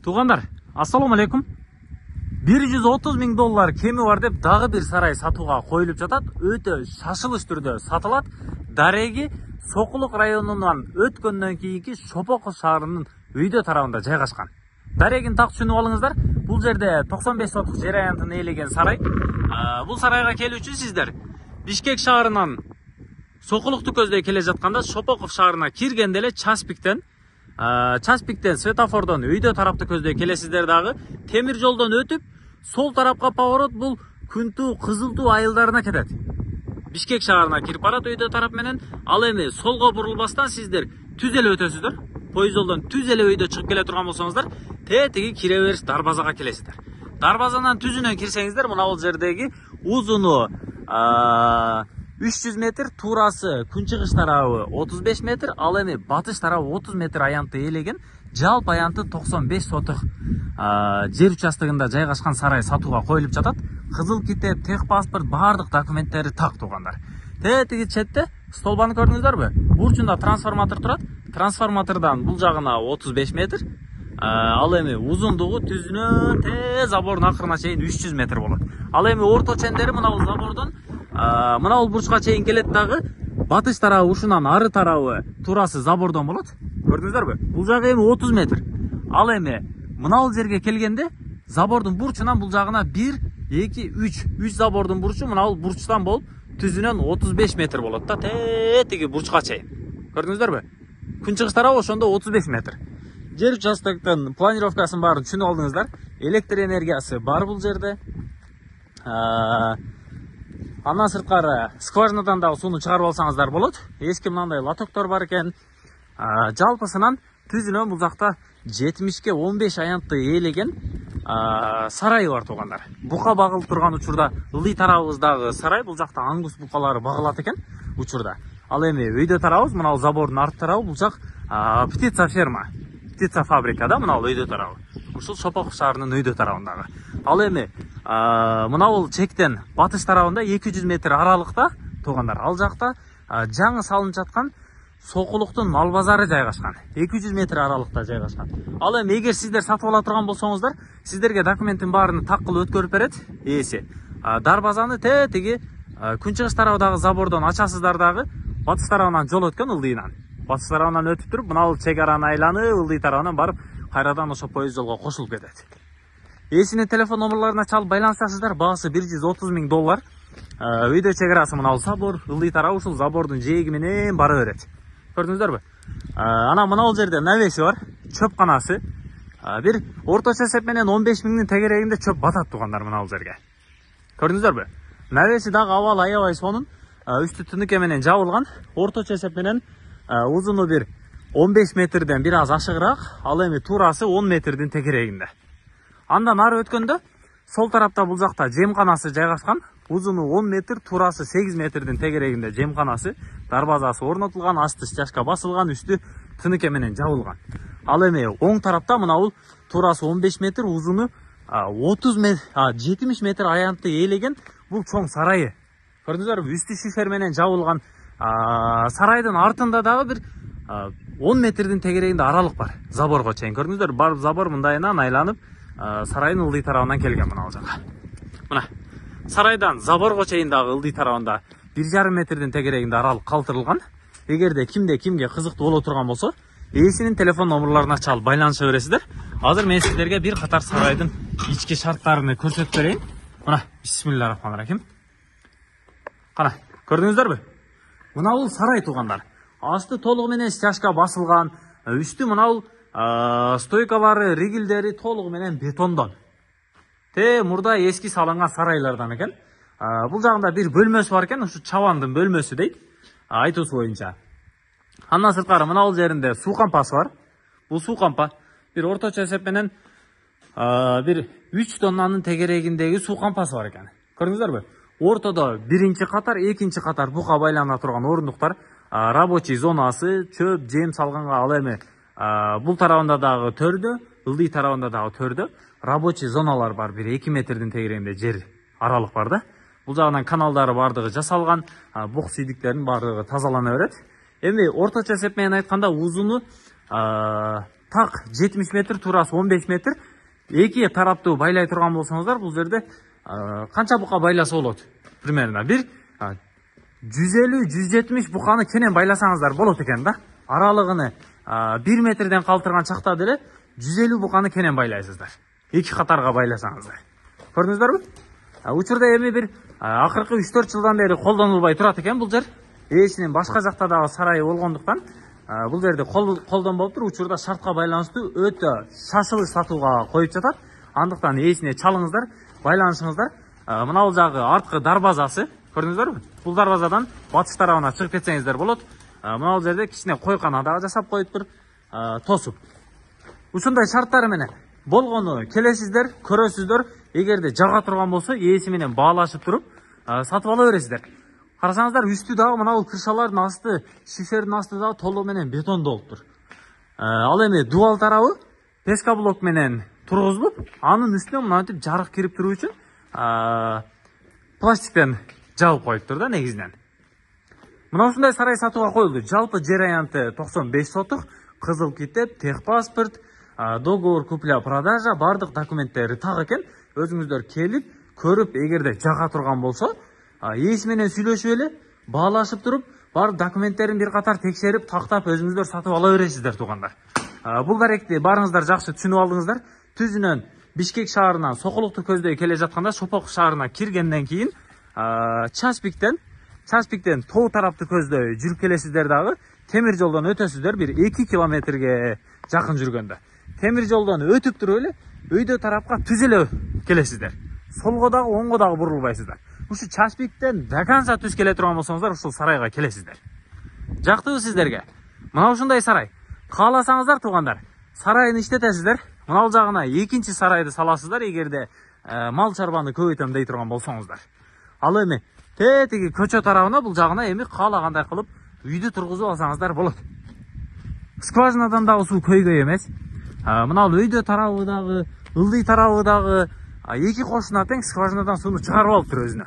Туугандар, ассаламу алейкум. 130 000 доллар кеми бар деп дагы бир сарай сатууга коюлуп жатат. Өтө шашылыш түрдө сатылат. Дареги Сокулук районунан өткөндөн кийинки Шопоков шаарынын өйдө тарабында жайгашкан. Дарегин так түшүнүп алыңыздар. Бул жерде 95 сотук жер аянтын ээлеген сарай. Бул сарайга келүү үчүн сиздер Бишкек шаарынан Сокулукту көздөй келе жатканда Шопоков шаарына киргенде эле Часпиктен светофордон өйдө тарапты көздөй келесиздер дагы. Темир жолдон өтүп, сол тарапка поворот бул Күнтүү, Кызылтуу айылдарына кетет. Бишкек шаарына кирип барат өйдө тарап менен. Ал эми солго бурулбастан сиздер түз эле өтөсүздөр. Поезд жолдон түз эле өйдө чыгып келе турган болсоңуздар, тетиги кире бериш дарбазага келесиздер. Дарбазанан түзүнөн кирсеңиздер, мына бул жердеги узуну 300 метр, туурасы күнчыгыш тарабы 35 метр, ал эми батыш тарабы 30 метр аянтты ээлеген, жалпы аянты 95 сотук жер участогунда жайгашкан сарай сатууга коюлуп жатат. Кызыл китеп, техпаспорт, баардык документтери так, туугандар. Тетиги четте столбаны көрдүңүздөрбү? Бурчунда трансформатор турат. Трансформатордон бул жагына 35 метр. Ал эми узундугу түзүнө забордун акырына чейин 300 метр болот. Ал эми орто чендери мына бул забордон мына бул бурчка чейин келет дагы. Батыш тарабы ушунан ары тарабы туурасы забордон болот. Көрдүңүздөрбү? Бул жагы эми 30 метр. Ал эми мына бул жерге келгенде забордун бурчунан бул жагына 1, 2, 3 забордун бурчу мына бул бурчтан болуп түзүнөн 35 метр болот да, тетиги бурчка чейин. Көрдүңүздөрбү? Күнчыгыш тарабы ошондо 35 метр. Жер участоктун планировкасын баарын түшүнүп алдыңыздар. Электр энергиясы бар бул жерде. Андан сырткары скважинадан дагы сууну чыгарып алсаңыздар болот. Эски мындай лотоктор бар экен. Жалпысынан түзүнөн бул жакта 70-ке 15 аянтты ээлеген сарай бар, туугандар. Бука багылып турган учурда ылдый тарабыбыздагы сарай, бул жакта аңгус букалары багылат экен учурда. Ал эми өйдө тарабыбыз, мына бул забордун арт тарабы, бул жак птица ферма, птица фабрика да, мына бул өйдө тарабы. Ушул Шопоков шаарынын өйдө тарабындагы. Ал эми мына бул чектен батыш тарабында 200 метр аралыкта, туугандар, ал жакта жаңы салынып жаткан Сокулуктун мал базары жайгашкан. 200 метр аралыкта жайгашкан. Ал эми эгер сиздер сатып ала турган болсоңуздар, сиздерге документтин баарын так кылып өткөрүп берет ээси. Дарбазаны тетиги күнчыгыш тарабындагы забордон ачасыздар дагы, батыш тарабынан жол өткөн ылдыйынан. Батыш тарабынан өтүп туруп, мына бул чек араны айланып, ылдый тарабынан барып, кайрадан ошо поезд жолго кошулуп кетет. Ээсинин телефон номерларына чалып байланышасыздар. Баасы 130 000 доллар. Өйдө чек арасы мына бул забор, ылдый тарабы ушул забордун жээги менен бара берет. Көрдүңүздөрбү? Ана мына бул жерде навеси бар, чөп канасы. Бир орточо эсеп менен 15 000-дин тегерегинде чөп батат, туугандар, мына бул жерге. Көрдүңүздөрбү? Навеси дагы абал аябай сонун, үстү тыныке менен жабылган. Орточо эсеп менен узуну бир 15 метрден бир аз ашыгыраак, ал эми туурасы 10 метрдин тегерегинде. Андан ары өткөндө сол тарапта бул жакта жемканасы жайгашкан. Узуну 10 метр, туурасы 8 метрдин тегерегинде жемканасы, дарбазасы орнотулган, асты стяжка басылган, үстү тыныке менен жабылган. Ал эми оң тарапта мына бул туурасы 15 метр, узуну 70 метр аянтты ээлеген бул чоң сарайы. Көрдүңүздөрбү? Үстү шифер менен жабылган. Сарайдын артында дагы бир 10 метрдин тегерегинде аралык бар, заборго чейин. Көрдүңүздөрбү? Барып забор мындайынан айланып, сарайдын ылдый тарабынан келген мына бул жака. Мына сарайдан заборго чейин дагы ылдый тарабында 1,5 метрдин тегерегинде аралык калтырылган. Эгерде кимге кызыктуу боло турган болсо, ээсинин телефон номерларына чалып байланыша бересиздер. Азыр мен сиздерге бир катар сарайдын ички шарттарын көрсөтүп берейин. Мына, бисмиллахиррахманиррахим. Кана, көрдүңүздөрбү? Мына бул сарай, туугандар. Асты толугу менен стяжка басылган, үстү мына бул стойкалары, ригилдери толугу менен бетондон. Мурда эски салынган сарайлардан экен. Бул жагында бир бөлмөсү бар экен, ушу чабандын бөлмөсү дейт, айтуусу боюнча. Андан сырткары мына бул жеринде суу кампасы бар. Бул суу кампа бир орточо эсеп менен бир 3 тоннанын тегерегиндеги суу кампасы бар экен. Көрдүңүздөрбү? Ортодо биринчи катар, экинчи катар бука байлана турган орундуктар, рабочий зонасы, чөп, жем салганга. Ал эми бул тарабында дагы төрдө, ылдый тарабында дагы төрдө рабочий зоналар бар, бир 2 метрдин тегерегинде жер аралык бар да. Бул жагынан каналдары бардыгы жасалган, бук сүйдүктөрдүн бардыгы тазалана берет. Эми орточо эсеп менен айтканда узуну так 70 метр, туурасы 15 метр. Эки тараптуу байлай турган болсоңуздар, бул жерде канча бука байласа болот? Примерно бир 150-170 буканы кенен байласаңыздар болот экен да. Аралыгыны 1 метрден калтырган чакта деле 150 буканы кенен байлайсыздар. Эки катарга байласаңыздар. Көрдүңүздөрбү? Учурда эми бир акыркы 3-4 жылдан бери колдонулбай турат экен бул жер. Ээсинин башка жакта дагы сарайы болгондуктан бул жерде колдонбоп туруп, учурда шартка байланыштуу өтө шашылыш сатууга коюп жатат. Андыктан ээсине чалыңыздар, байланышыңыздар. Мына бул жагы арткы дарбазасы, көрдүңүздөрбү? Бул дарбазадан батыш тарабына чыгып кетсеңиздер болот. Мына бул жерде кичине койкана дагы жасап коюптур, тосуп. Ушундай шарттары менен болгону келесиздер, көрөсүздөр. Эгерде жага турган болсо, ээси менен баалашып туруп сатып ала бересиздер. Карасаңыздар, үстү дагы мына бул крышалардын асты, шифердин асты дагы толугу менен бетондолуптур. Ал эми дуал тарабы пескоблок менен тургузулуп, анын үстүнө мынтип жарык кирип туруу үчүн пластиктен жабып коюптур да негизинен. Мына ушундай сарай сатууга коюлду. Жалпы жер аянты 95 сотук, кызыл китеп, техпаспорт, договор купля-продажа, бардык документтери так экен. Өзүңүздөр келип, көрүп, эгерде жага турган болсо, ээси менен сүйлөшүп эле, баалашып туруп, бардык документтерин бир катар текшерип, тактап өзүңүздөр сатып ала бересиздер туугандар. Бул даректи барыңыздар жакшы түшүнүп алдыңыздар. Түзүнөн Бишкек шаарынан Сокулукту көздөй келе жатканда, Шопок шаарына киргенден кийин Часпиктен тоо тарапты көздөй жүрүп келесиздер дагы. Темир жолдон өтөсүздөр бир 2 километрге жакын жүргөндө. Темир жолдон өтүп туруп эле өйдө тарапка түз эле келесиздер. Солго дагы, оңго дагы бурулбайсыздар. Ушу Часпиктен до конца түз келе турган болсоңуздар, ушул сарайга келесиздер. Жактыбы сиздерге? Мына ушундай сарай. Кааласаңыздар туугандар, сарайын иштетесиздер. Мына бул жагына экинчи сарайды саласыздар, эгерде мал чарбаны көбөйтөм дей турган болсоңуздар. Ал эми тетиги көчө тарабына, бул жагына эми каалагандай кылып үйдү тургузуп алсаңыздар болот. Скважинадан дагы суу көйгөй эмес. Мына бул өйдө тарабы дагы, ылдый тарабы дагы эки кошуна тең скважинадан сууну чыгарып алыптыр өзүнө.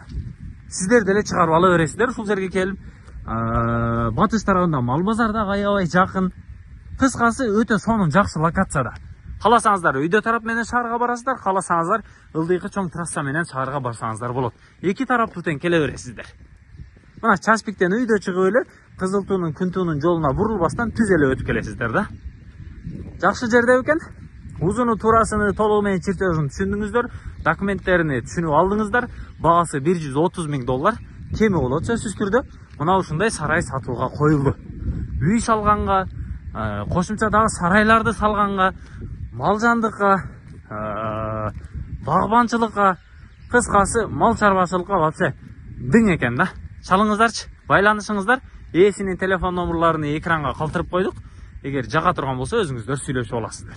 Сиздер деле чыгарып ала бересиздер ушул жерге келип. Батыш тарабында мал базар дагы аябай жакын. Кыскасы өтө сонун жакшы локацияда. Кааласаңыздар өйдө тарап менен шаарга барасыздар, кааласаңыздар ылдыйкы чоң трасса менен шаарга барсаңыздар болот. Эки тараптуу тең келе бересиздер. Мына Часпиктен өйдө чыгып эле Кызыл туунун, Күн туунун жолуна бурулбастан түз эле өтүп келесиздер да. Жакшы жерде экен. Узуну туурасыны толугу менен чиртөөсүн түшүндүңүздөр, документтерини түшүнүп алдыңыздар. Баасы $130,000 кеми болот сөзсүз түрдө. Мына ушундай сарай сатууга коюлду. Үй салганга, кошумча дагы сарайларды салганга, малжандыкка, багбанчылыкка, кыскасы мал чарбачылыкка вообще дың экен да. Чалыңыздарчы, байланышыңыздар. Ээсинин телефон номерларын экранга калтырып койдук. Эгер жага турган болсо өзүңүздөр сүйлөшүп аласыздар.